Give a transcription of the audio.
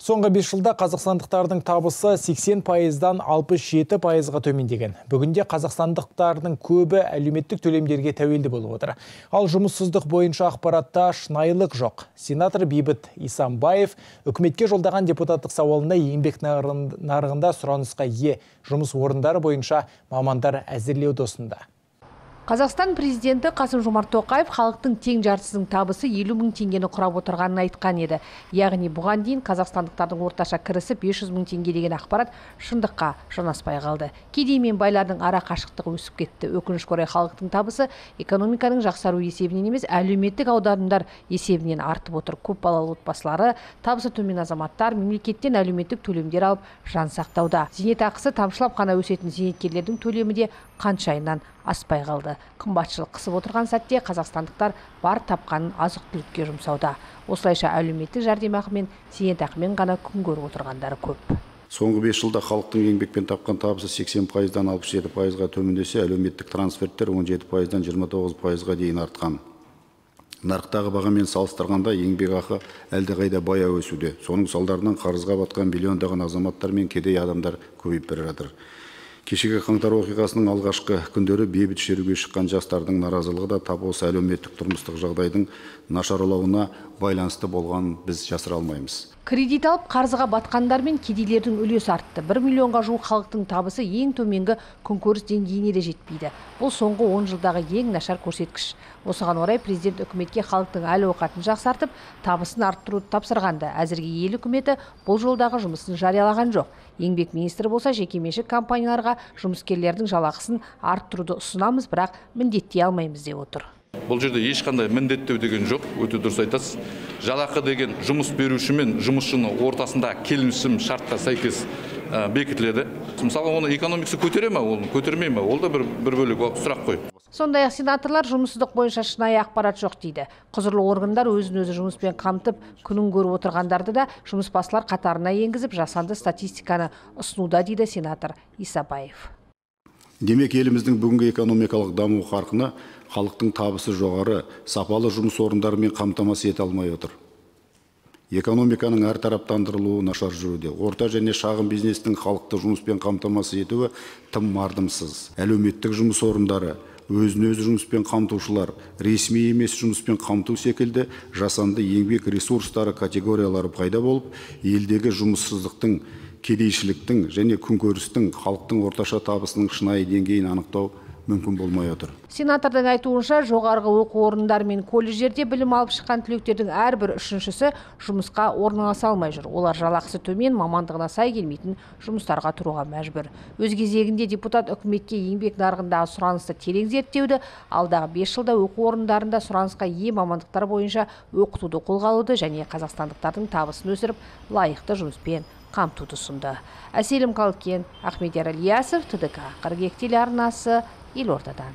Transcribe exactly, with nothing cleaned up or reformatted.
Соңғы бес жылда қазақстандықтардың табысы сексен пайыздан алпыс жеті пайызға төмендеген. Бүгінде қазақстандықтардың көбі әлеуметтік төлемдерге тәуелді болып отыр. Ал жұмыссыздық бойынша ақпаратта шынайылық жоқ. Сенатор Бейбіт Исамбаев үкіметке жолдаған депутаттық сауалында еңбек нарығында сұранысқа ие жұмыс орындары бойынша мамандар әзірлеуді ұсынды. Қазақстан президенті Қасым-Жомарт Тоқаев халықтың тең жартысының табысы елу мың теңгені құрап отырғанын айтқан еді. Яғни бұған дейін қазақстандықтардың орташа кірісі бес жүз мың теңге деген ақпарат шындыққа жанаспай қалды. Кедей мен байлардың ара қашықтығы өсіп кетті. Өкінішке орай халықтың табысы экономиканың жақсару есебінен емес, әлеуметтік аударымдар есебінен артып отыр. Көп балалы отбасылары, табысы төмен азаматтар мемлекеттен әлеуметтік төлемдер алып жан сақтауда. Зейнетақысы тамшылап қана өсетін зейнеткерлердің төлемі де қаншайынан аспай қалды. Қымбатшылық қысып отырған сәтте қазақстандықтар бар тапқанын азық-түлікке жұмсауда. Осылайша әлеуметтік жәрдемақы мен зейнетақымен ғана күн көріп отырғандары көп. Соңғы бес жылда халықтың еңбекпен тапқан табысы сексен пайыздан алпыс жеті пайызға төмендесе, әлеуметтік трансферттер он жеті пайыздан жиырма тоғыз пайызға дейін артқан. Нарықтағы бағамен салыстырғанда еңбекақы әлдеқайда баяу өсуде. Соның салдарынан қарызға батқан миллиондаған азаматтар мен кедей адамдар көбейіп бара жатыр. Кешегі қаңтар оқиғасының алғашқы күндері бейбіт шеруге шыққан жастардың наразылығы да тап осы әлеуметтік тұрмыстық жағдайдың нашарлауына байланысты болғанын біз жасыра алмаймыз. Кредит алып қарызға батқандар мен кедейлердің үлесі артты. бір миллионға жуық халықтың табысы ең төменгі күнкөріс деңгейіне де жетпейді. Бұл соңғы он жылдағы ең нашар көрсеткіш. Осыған орай президент үкіметке халықтың әл-ауқатын жақсартып, табысын арттыруды тапсырғанды. Әзірге ел үкіметі бұл жолдағы жұмысын жариялаған жоқ. Еңбек министрі болса, жекеменшік компанияларға жұмыскерлердің жалақысын арттыруды ұсынамыз, бірақ міндеттей алмаймыз деп отыр. Бұл жерде ешқандай міндеттеу деген жоқ, өте дұрыс айтасыз. Жалақы деген жұмыс беруші мен жұмысшының ортасында келісім шартқа сәйкес бекітіледі. Мысалы, оны экономикасы көтере ме, оны көтермей ме? Ол да бір бір бөлек сұрақ қой. Сондай-ақ сенаторлар жұмыссыздық бойынша шынайы ақпарат жоқ дейді. Құзырлы органдар өзін-өзі жұмыспен қамтып, күнін көріп отырғандарды да жұмысбасылар қатарына енгізіп, жасанды статистиканы ұсынуда дейді сенатор Исабаев. Демек, еліміздің бүгінгі экономикалық даму қарқыны халықтың табысы жоғары, сапалы жұмыс орындарымен қамтамасыз ете алмай отыр. Экономиканың әртараптандырылуы нашар жүруде. Орта және шағын бизнестің халықты жұмыспен қамтамасыз етуі тым мардымсыз. Әлеуметтік жұмыс орындары, өзін-өзі жұмыспен қамтушылар, ресми емес жұмыспен қамту секілді жасанды еңбек ресурстары категориялары пайда болып, елдегі жұмыссыздықтың, кедейшіліктің және күнкөрістің халықтың орташа табысының шынайы деңгейін анықтау мүмкін болмай отыр. Сенатордың айтуынша, жоғарғы оқу орындары мен колледждерде білім алып шыққан түлектердің әрбір үшіншісі жұмысқа орналаса алмай жүр. Олар жалақысы төмен, мамандығына сай келмейтін жұмыстарға тұруға мәжбүр. Өз кезегінде депутат үкіметке еңбек нарығындағы сұранысты терең зерттеуді, алдағы бес жылда оқу орындарында сұранысқа ие мамандықтар бойынша оқытуды қолға алуды және қазақстандықтардың табысын өсіріп, лайықты жұмыспен қамтуды ұсынды. Әселім Қалкен, Ахмедияр Ильясов, ТДК қырық екі телеарнасы, Елордадан.